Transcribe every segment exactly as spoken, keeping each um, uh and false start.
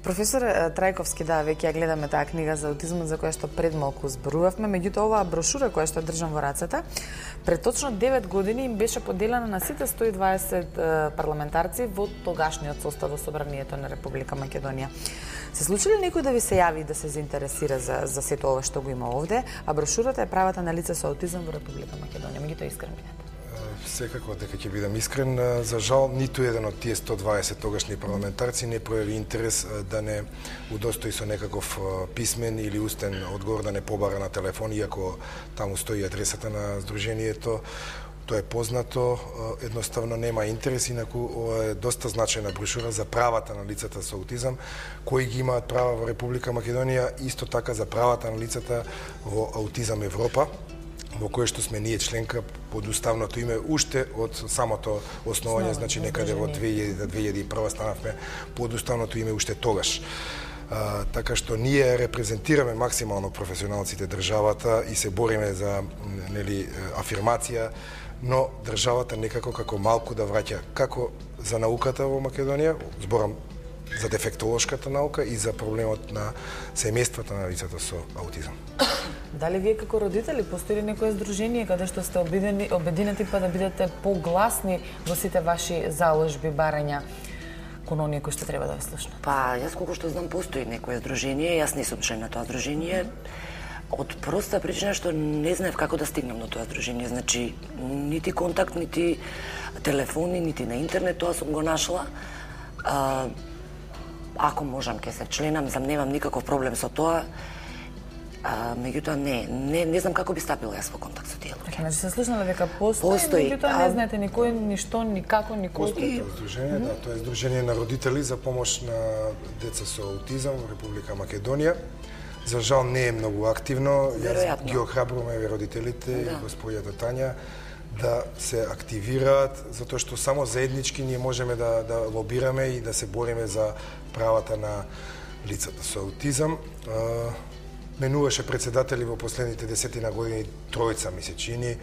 Професор Трајковски, да, веќе ја гледаме таа книга за аутизмот за која што пред малку зборувавме, меѓутоа оваа брошура која што држам во рацете, пред точно девет години им беше поделена на сите сто и дваесет парламентарци во тогашниот состав во Собранието на Република Македонија. Се случи ли некој да ви се јави и да се заинтересира за за сето ова што го има овде, а брошурата е правата на лица со аутизам во Република Македонија? Меѓутоа искрен бидете. Секако, дека ќе бидам искрен, за жал ниту еден од тие сто и дваесет тогашни парламентарци не пројави интерес да не удостои со некаков писмен или устен одговор, да не побара на телефон, иако таму стои адресата на Сдруженијето. Тоа е познато, едноставно нема интерес, инаку ова е доста значајна брошура за правата на лицата со аутизам, кои ги имаат права во Република Македонија, исто така за правата на лицата во Аутизам Европа, во кое што сме ние членка под уставното име уште од самото основање, значи некаде во две илјади до две илјади и прва станавме под уставното име уште тогаш. А, така што ние репрезентираме максимално професионалците државата и се бориме за нели афирмација, но државата некако како малку да враќа како за науката во Македонија, зборам за дефектолошката наука и за проблемот на семејствата на лицата со аутизам. Дали вие како родители постои ли некое здружение каде што сте обидени, обединети па да бидете погласни во сите ваши заложби, барања кон оние кои што треба да ве слушнат? Па, јас колку што знам постои некое здружение, јас не сум член на тоа здружение, од проста причина што не знаев како да стигнам до тоа здружение, значи нити контакт, нити телефони, нити на интернет, тоа сум го нашла. А, ако можам ке се членам, зам немам никаков проблем со тоа. А, меѓутоа не, не, не знам како би стапила јас во контакт со тие луѓе. Значи се слушнала дека постои, постои, меѓутоа не знаете никој, ништо, никако, никој. Постои тоа здружение, да, тоа е здружение на родители за помош на деца со аутизам во Република Македонија. За жал не е многу активно. Јас ги охрабрувам еве родителите и да. Господјата Тања да се активираат, затоа што само заеднички ние можеме да, да лобираме и да се бориме за правата на лицата со аутизам. Менуваше председатели во последните десетина години, тројца ми се чини,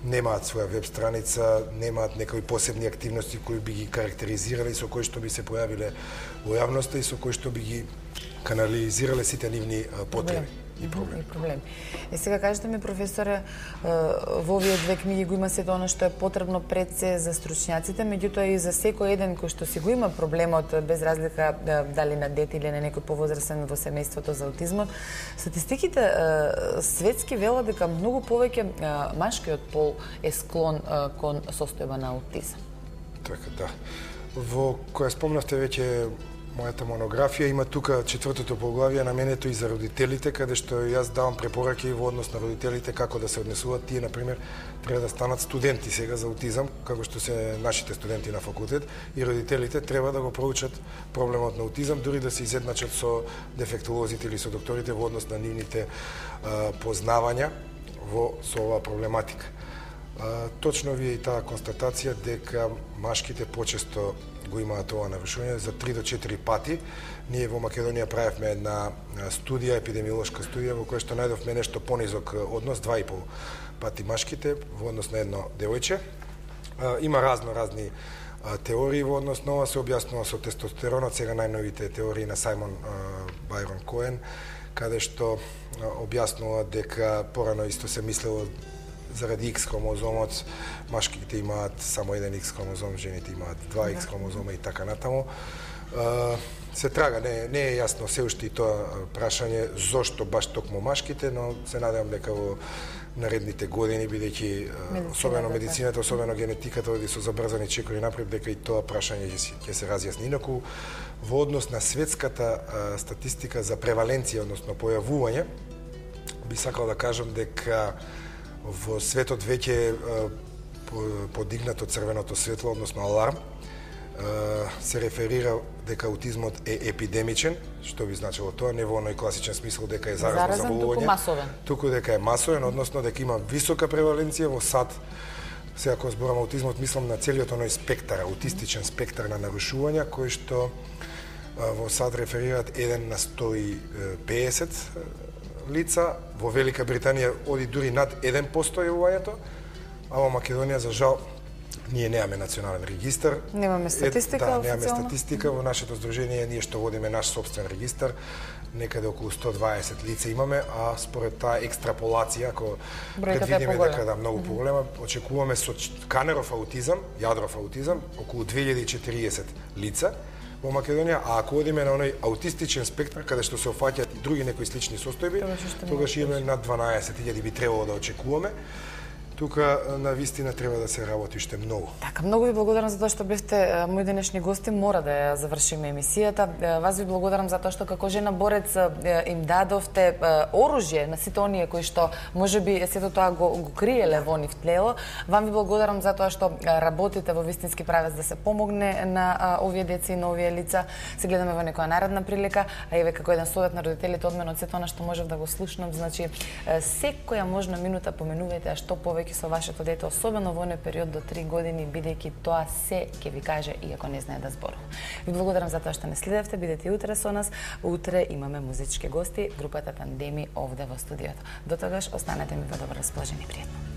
немаат своја веб страница, немаат некои посебни активности кои би ги карактеризирали, со кои што би се појавиле во јавноста и со кои што би ги канализирале сите нивни потреби и проблеми. И проблеми. Е сега кажете ми, професоре, во овие две книги го има сето оно што е потребно пред се за стручњаците, меѓутоа и за секој еден кој што си го има проблемот, без разлика дали на дете или на некој повозрастен во семејството за аутизмот. Статистиките светски велат дека многу повеќе машкиот пол е склон кон состојба на аутизам. Така, да. Во која спомнавте веќе мојата монографија, има тука четвртото поглавие наменето и за родителите, каде што јас давам препораки во однос на родителите како да се однесуваат. Тие, например, треба да станат студенти сега за аутизам, како што се нашите студенти на факултет, и родителите треба да го проучат проблемот на аутизам, дури да се изедначат со дефектолозите или со докторите во однос на нивните а, познавања во со оваа проблематика. А, точно ви е и таа констатација дека машките почесто го имаат ова нарушување за три до четири пати. Ние во Македонија правевме една студија, епидемиолошка студија, во која што најдовме нешто понизок однос, два и пол пати машките во однос на едно девојче. Има разно разни теории во однос на ова, се објаснува со тестостеронот, сега најновите теории на Сајмон Бајрон Коен, каде што објаснува дека порано исто се мислело заради X хромозомот, машките имаат само еден X хромозом, жените имаат два X хромозома и така натаму. Се трага, не, не е јасно се уште и тоа прашање зошто баш токму машките, но се надевам дека во наредните години, бидејќи особено медицината, особено генетиката оди со забрзани чекори напред, дека и тоа прашање ќе се разјасни. Инаку, во однос на светската статистика за преваленција, односно појавување, би сакал да кажам дека во светот веќе подигнато црвеното светло, односно аларм, се реферира дека аутизмот е епидемичен, што би значило тоа, не во оној класичен смисол дека е заразно заболување, туку масовен. Туку дека е масовен, односно дека има висока преваленција во САД. Сега кога зборам аутизмот, мислам на целиот оној спектар, аутистичен спектар на нарушувања, кои што во САД реферираат еден на сто и педесет лица, во Велика Британија оди дури над еден процент јавувањето, а во Македонија за жал Ние немаме национален регистар. Немаме статистика, е, да, немаме официјално. статистика. Во нашето здружение ние што водиме наш собствен регистар, некаде околу сто дваесет лица имаме, а според таа екстраполација, ако предвидиме дека да многу поголема, очекуваме со Канеров аутизам, Јадров аутизам, околу две илјади и четириесет лица во Македонија, а ако одиме на оној аутистичен спектар, каде што се офаќаат и други некои слични состојби, тогаш имаме над дванаесет илјади би требало да очекуваме. Тука на вистина треба да се работи уште многу. Така, многу ви благодарам за тоа што бевте мои денешни гости. Мора да ја завршиме емисијата. Вас ви благодарам за тоа што како жена борец им дадовте оружје на сите оние кои што можеби сето тоа го, го криеле во нив тлело. Вам ви благодарам за тоа што работите во вистински правец да се помогне на овие деца и на овие лица. Се гледаме во некоја наредна прилика, а еве како еден совет на родителите од мене од сето она што можев да го слушнам, значи секоја можна минута поменувајте, а што повеќе со вашето дете, особено во оној период до три години, бидејќи тоа се ќе ви каже иако не знае да зборува. Ви благодарам за тоа што не следевте, бидете и утре со нас. Утре имаме музички гости, групата Тандеми овде во студиото. До тогаш останете ми во добро расположение, пријатно.